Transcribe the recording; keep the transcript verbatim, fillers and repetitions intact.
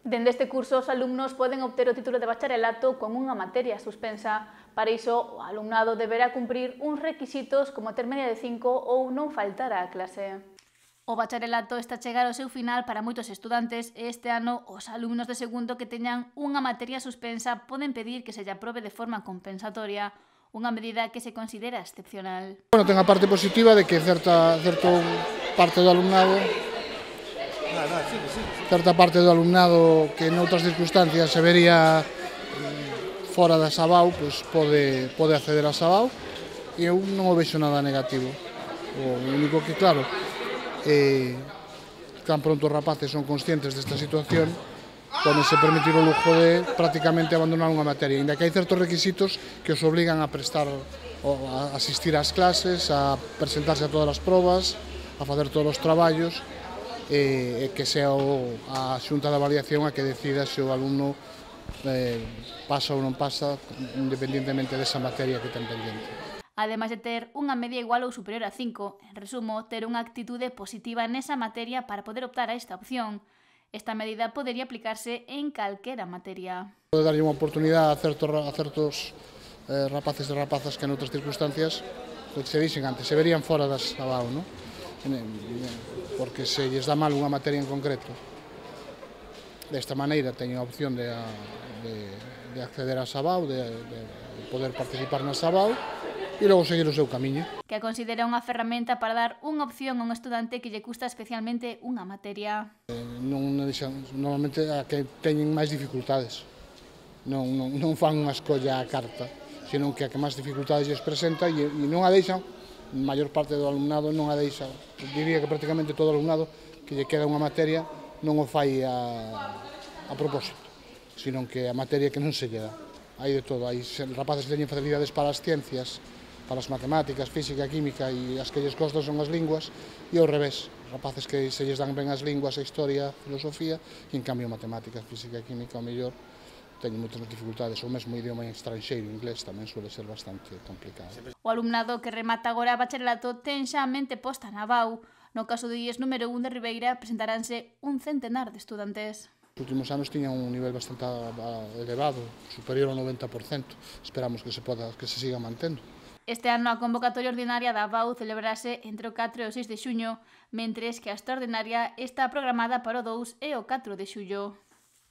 Dende este curso, os alumnos poden obter o título de bacharelato con unha materia suspensa. Para iso, o alumnado deberá cumprir uns requisitos como ter media de cinco ou non faltar á clase. O bacharelato está a chegar ao seu final para moitos estudantes e este ano os alumnos de segundo que teñan unha materia suspensa poden pedir que se lle aprobe de forma compensatoria, unha medida que se considera excepcional. Bueno, ten a parte positiva de que certa, certa parte do alumnado certa parte do alumnado que noutras circunstancias se vería fora da Sabau, pois pode, pode acceder a Sabau e eu non o vexo nada negativo. O único que, claro, eh, tan pronto os rapaces son conscientes desta situación, pódense permitir o lujo de prácticamente abandonar unha materia, ainda que hai certos requisitos que os obligan a prestar, a asistir ás clases, a presentarse a todas as probas, a facer todos os traballos, e que sea a xunta de avaliación a que decida se o alumno eh, pasa ou non pasa, independentemente desa materia que ten pendiente. Ademais de ter unha media igual ou superior a cinco, en resumo, ter unha actitude positiva nesa materia para poder optar a esta opción. Esta medida podería aplicarse en calquera materia. Pode darlle unha oportunidade a certos, a certos eh, rapaces e rapazas que en outras circunstancias, que se dixen antes, se verían fora das Sabau, non? Porque se lles dá mal unha materia en concreto. Desta maneira teñen a opción de, de, de acceder a Sabau, de, de poder participar na Sabau e logo seguir o seu camiño. Que a considera unha ferramenta para dar unha opción a un estudante que lle custa especialmente unha materia. Eh, non deixan, normalmente a que teñen máis dificultades. Non, non, non fan unha escolla á carta, senón que a que máis dificultades lles presenta e, e non a deixan, a maior parte do alumnado non a deixa, diría que prácticamente todo o alumnado que lle queda unha materia non o fai a, a propósito, senón que a materia que non se lle dá. Hai de todo, hai rapaces que teñen facilidades para as ciencias, para as matemáticas, física, química e as que lles costan son as linguas e ao revés, rapaces que se lles dan ben as linguas, a historia, a filosofía e en cambio matemáticas, física e química ao mellor teñen moitas dificultades, o mesmo idioma estranxeiro, inglés, tamén suele ser bastante complicado. O alumnado que remata agora bacharelato ten xa a mente posta na B A U. No caso do I E S número un de Ribeira presentaránse un centenar de estudantes. Os últimos anos tiñan un nivel bastante elevado, superior ao noventa por cento. Esperamos que se poda, que se siga mantendo. Este ano a convocatoria ordinaria da B A U celebrarase entre o catro e o seis de xuño, mentres que a extraordinaria está programada para o dous e o catro de xullo.